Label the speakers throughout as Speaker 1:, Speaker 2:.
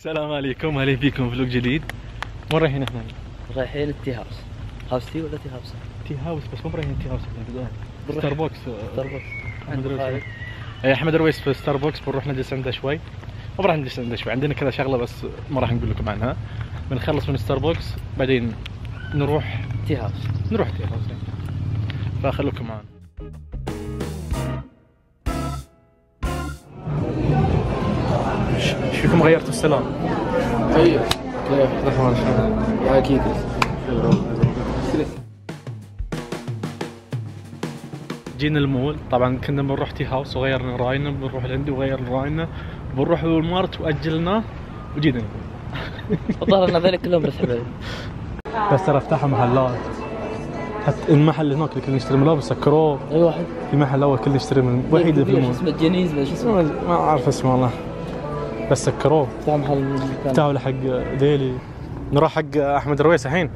Speaker 1: السلام عليكم، اهلا فيكم فلوق جديد. وين رايحين احنا؟
Speaker 2: رايحين التي هاوس. هاوس تي ولا تي هاوس؟
Speaker 1: تي هاوس، بس مو رايحين تي هاوس الحين. ستار بوكس. احمد رويس في ستار بوكس، بنروح نجلس عنده شوي. ما راح نجلس عنده شوي، عندنا كذا شغله بس ما راح نقول لكم عنها. بنخلص من ستار بوكس بعدين نروح
Speaker 2: تي هاوس.
Speaker 1: فخلوكم معنا. ايش فيكم غيرتوا السلام؟
Speaker 3: طيب كيف الاخبار؟ اكيد
Speaker 1: جينا المول، طبعا كنا بنروح تي هاوس وغيرنا راينا، بنروح لعندي وغير راينا، بنروح والمارت واجلناه وجينا المول.
Speaker 2: الظاهر ان هذول كلهم بس حبايب.
Speaker 1: بس ترى فتحوا محلات، حتى المحل هناك اللي كنا نشتري ملابس سكروه.
Speaker 2: اي واحد
Speaker 1: في محل اول كنا نشتري من وحيد في المول
Speaker 2: اسمه جينيز، ما شو اسمه؟
Speaker 1: ما اعرف اسمه والله، بس سكروه.
Speaker 2: فتح محل
Speaker 1: فتحوا لحق ديلي. نروح حق احمد رويس الحين.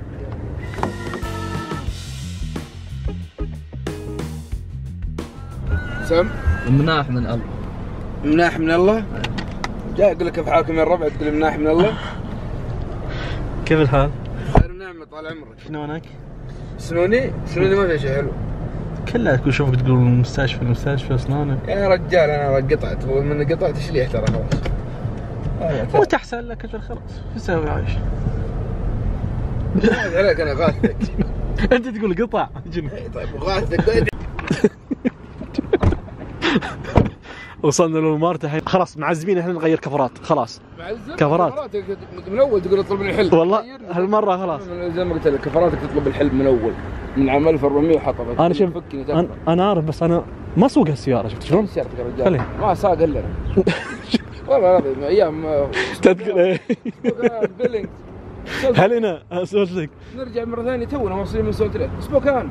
Speaker 3: سم
Speaker 2: مناح من الله.
Speaker 3: مناح من الله. جاي اقول لك كيف حالكم يا الربع تقول مناح من الله.
Speaker 1: كيف الحال؟
Speaker 3: خير ونعمة طال عمرك.
Speaker 1: شلونك؟
Speaker 3: سنوني ما فيها شيء حلو.
Speaker 1: كلها كل شوفك تقول المستشفى اسنانك.
Speaker 3: يا رجال انا قطعت، ومن قطعت شليح ترى خلاص.
Speaker 1: مو تحسن لك اجل خلاص، شو تسوي عايش؟
Speaker 3: عليك انا غاثتك.
Speaker 1: انت تقول قطع جنب.
Speaker 3: طيب غاثتك.
Speaker 1: وصلنا للمارت الحين، خلاص معزمين احنا نغير كفرات، خلاص كفرات
Speaker 3: من اول تقول اطلب لي الحلم.
Speaker 1: والله هالمره خلاص
Speaker 3: زي ما قلت لك كفراتك تطلب الحلم من اول، من عام 1400 وحطها.
Speaker 1: انا شوف انا عارف، بس انا ما اسوق هالسياره، شفت شلون؟
Speaker 3: سيارتك يا رجال ما ساق الا انا. والله العظيم ايام
Speaker 1: تذكر ايه
Speaker 3: بيلينج.
Speaker 1: هل انا اسولت لك
Speaker 3: نرجع مره ثانيه، تونا موصلين من سولت ليك سبوكان.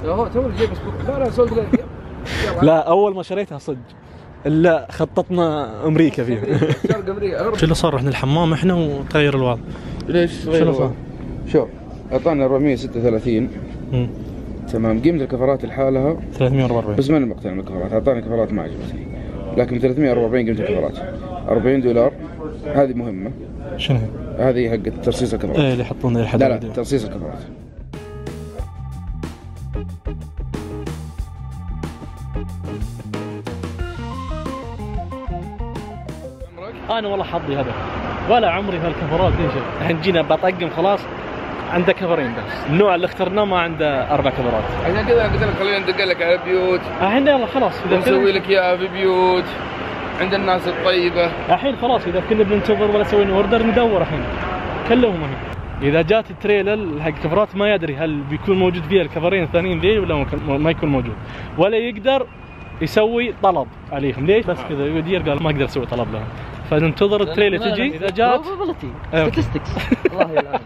Speaker 3: هو تو جايب سبوكان. لا سولت ليك.
Speaker 1: لا اول ما شريتها صدق، لا خططنا امريكا فيها.
Speaker 3: شرق امريكا.
Speaker 1: شو اللي صار؟ رحنا الحمام احنا وتغير الوضع.
Speaker 3: ليش؟
Speaker 1: شو اللي صار؟
Speaker 3: شوف اعطانا 436 تمام. قيمة الكفرات لحالها
Speaker 1: 344
Speaker 3: بس ما انا مقتنع بالكفرات، اعطاني كفرات ما عجبتني، لكن 340 قيمة الكفرات. $40 هذه مهمة.
Speaker 1: شنو
Speaker 3: هذه حق ترصيص الكفرات.
Speaker 1: ايه اللي يحطون الحديد.
Speaker 3: لا ترصيص الكفرات.
Speaker 1: انا والله حظي هذا، ولا عمري في الكفرات ايش. الحين جينا بطقم خلاص، عنده كفرين بس، النوع اللي اخترناه ما عنده 4 كفرات.
Speaker 3: عشان كذا قلت لك خلينا ندق لك على بيوت.
Speaker 1: الحين يلا خلاص اذا
Speaker 3: نسوي لك اياها في بيوت عند الناس الطيبه.
Speaker 1: الحين خلاص اذا كنا بننتظر ولا سوينا اوردر ندور الحين كلهم هنا. اذا جات التريلر حق كفرات ما يدري هل بيكون موجود فيها الكفرين الثانيين ذي ولا ما يكون موجود، ولا يقدر يسوي طلب عليهم. ليش؟ بس كذا يدير قال ما اقدر اسوي طلب لهم، فننتظر التريلر تجي. اذا جات
Speaker 2: والله العظيم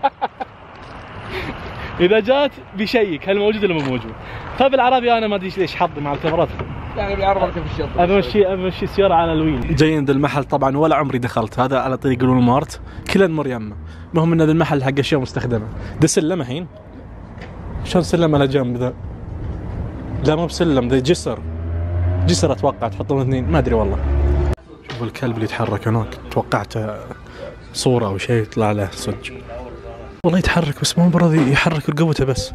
Speaker 1: اذا جات بيشيك هل موجود ولا مو موجود. فبالعربي انا ما ادري ليش حظي مع الكفرات،
Speaker 3: يعني بالعربي في الشط
Speaker 1: امشي السياره على الويل. جايين ذا المحل طبعا ولا عمري دخلت، هذا على طريق الوالمارت كله نمر يمه. المهم ان ذا المحل حق اشياء مستخدمه. ده سلم الحين، شلون سلم على جنب ذا؟ لا مو بسلم، ذا جسر اتوقع تحطون اثنين، ما ادري والله. شوفوا الكلب اللي يتحرك هناك، توقعته صوره او شيء يطلع له صدق. والله يتحرك بس مو برضي يحرك رقبته بس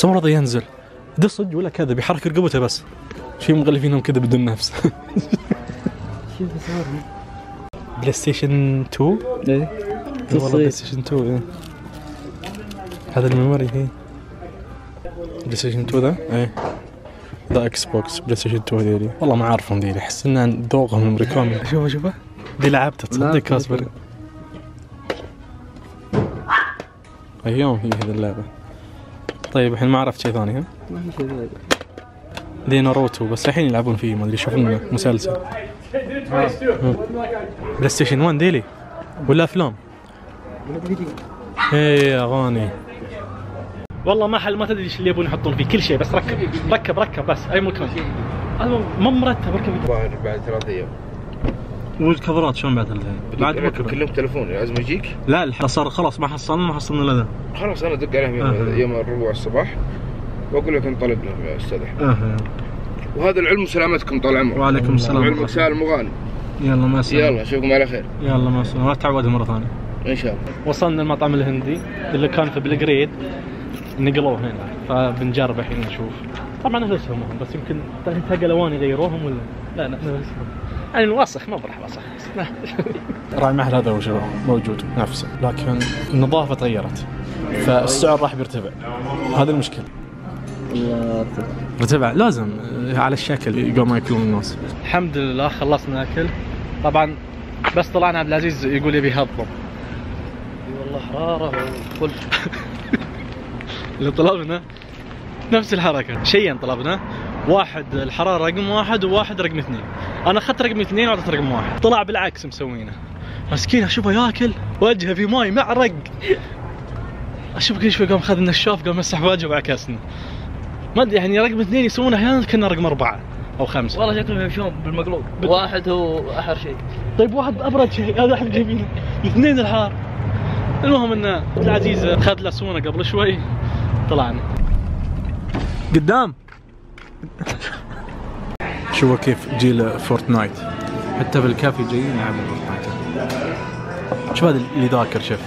Speaker 1: مو راضي ينزل. ده صدق ولا كذا؟ بيحرك رقبته بس. شي مغلفينهم كذا بدون نفس.
Speaker 2: شوف صورهم
Speaker 1: بلاي ستيشن 2.
Speaker 2: ايه
Speaker 1: والله بلاي ستيشن 2 ايه. هذا الميموري هي بلاي ستيشن 2 ذا ايه. ذا اكس بوكس بلاي ستيشن 2 ذيلي، والله ما اعرفهم ذيلي، احس ان ذوقهم الامريكان. شوفه دي لعبته تصدق كاسبر. ايام هي هذه اللعبه. طيب الحين ما عرفت شيء ثاني. ها
Speaker 2: ما في شيء ثاني.
Speaker 1: دي ناروتو بس الحين يلعبون فيه، ما ادري يشوفون مسلسل. بلاي ستيشن 1 ديلي ولا افلام؟ ايه اغاني. والله محل ما تدري ايش اللي يبون يحطون فيه، كل شيء بس ركب بس اي مكان. هذا ما مرتب ركب.
Speaker 3: بعد 3 ايام.
Speaker 1: والكفرات شلون بعد الحين؟ بعد بكره
Speaker 3: كلمت تليفون لازم يجيك.
Speaker 1: لا صار خلاص ما حصلنا الا ذا.
Speaker 3: خلاص انا ادق عليهم يوم الربوع الصباح واقول لك انطلقنا يا استاذ احمد. وهذا العلم وسلامتكم طال عمرك.
Speaker 1: وعليكم السلام.
Speaker 3: علمك سالم وغانم.
Speaker 1: يلا مع السلامه.
Speaker 3: يلا اشوفكم على خير.
Speaker 1: يلا مع السلامه، ما تعودها مره ثانيه
Speaker 3: ان شاء الله.
Speaker 1: وصلنا المطعم الهندي اللي كان في بلغريد، نقلوه هنا فبنجرب الحين نشوف. طبعا نفسهم هم، بس يمكن تلقى الوان يغيروهم ولا لا نفسهم يعني الوسخ ما بروح وسخ. راعي المحل هذا وش موجود نفسه، لكن النظافه تغيرت فالسعر راح بيرتفع، هذا المشكله. ارتفع لازم على الشكل يقوم ياكلون الناس. الحمد لله خلصنا اكل. طبعا بس طلعنا عبد العزيز يقول يبي يهضم.
Speaker 2: والله حراره وكل
Speaker 1: اللي طلبنا نفس الحركه، شيئين طلبنا، واحد الحراره رقم 1 وواحد رقم 2. انا اخذت رقم 2 وعطيت رقم 1، طلع بالعكس مسوينه. مسكين اشوفه ياكل وجهه في ماي معرق، اشوف كل شوي قام اخذ النشاف قام مسح وجهه وعكسنا. ما ادري يعني رقم 2 يسوونه احيانا كنا رقم 4 أو 5.
Speaker 2: والله شكلهم يمشون بالمقلوب. واحد هو احر شيء.
Speaker 1: طيب واحد ابرد شيء، هذا احنا جايبينه، الاثنين الحار. المهم ان عبد العزيز اخذ له سونه قبل شوي، طلعنا قدام. شوفوا كيف جيل فورتنايت، حتى في الكافي جايين يلعبون فورتنايت. شوف هذا اللي ذاكر، شوف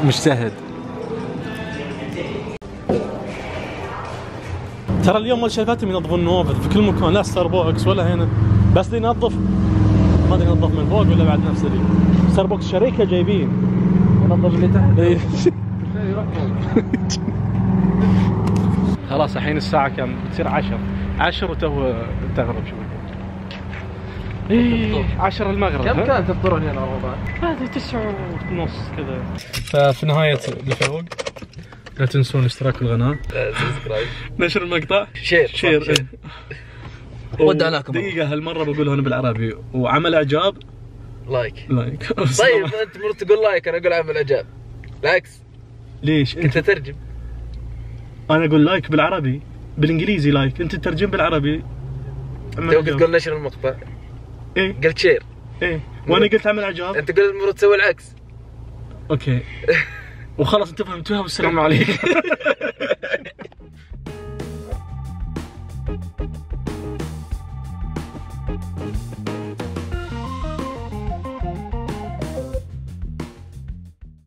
Speaker 1: مجتهد. ترى اليوم مال شايفاتهم ينظفون النوافذ في كل مكان، لا ستاربوكس ولا هنا، بس دي ينظف ما ادري ينظف من فوق ولا بعد نفس اللي ستاربوكس شركه جايبين
Speaker 2: ينظف اللي تحت.
Speaker 1: خلاص الحين الساعة كم؟ بتصير 10 وتو تغرب شوي. ايه 10 المغرب.
Speaker 2: كم كان تفطرون هنا رمضان؟
Speaker 1: هذه 9:30 كذا. ففي نهاية الفلوق لا تنسون الاشتراك بالقناة،
Speaker 2: سبسكرايب،
Speaker 1: نشر المقطع،
Speaker 2: شير. ودعناكم.
Speaker 1: دقيقة هالمرة بقولها أنا بالعربي، وعمل إعجاب
Speaker 2: لايك.
Speaker 1: طيب
Speaker 2: انت مرة تقول لايك انا اقول عمل اعجاب. بالعكس.
Speaker 1: ليش؟
Speaker 2: انت تترجم.
Speaker 1: انا اقول لايك بالعربي، بالانجليزي لايك، انت تترجم بالعربي.
Speaker 2: توك تقول نشر المقطع.
Speaker 1: ايه
Speaker 2: قلت شير.
Speaker 1: ايه وانا قلت عمل اعجاب.
Speaker 2: انت قلت المفروض تسوي العكس.
Speaker 1: اوكي وخلاص انت فهمتوها والسلام عليكم.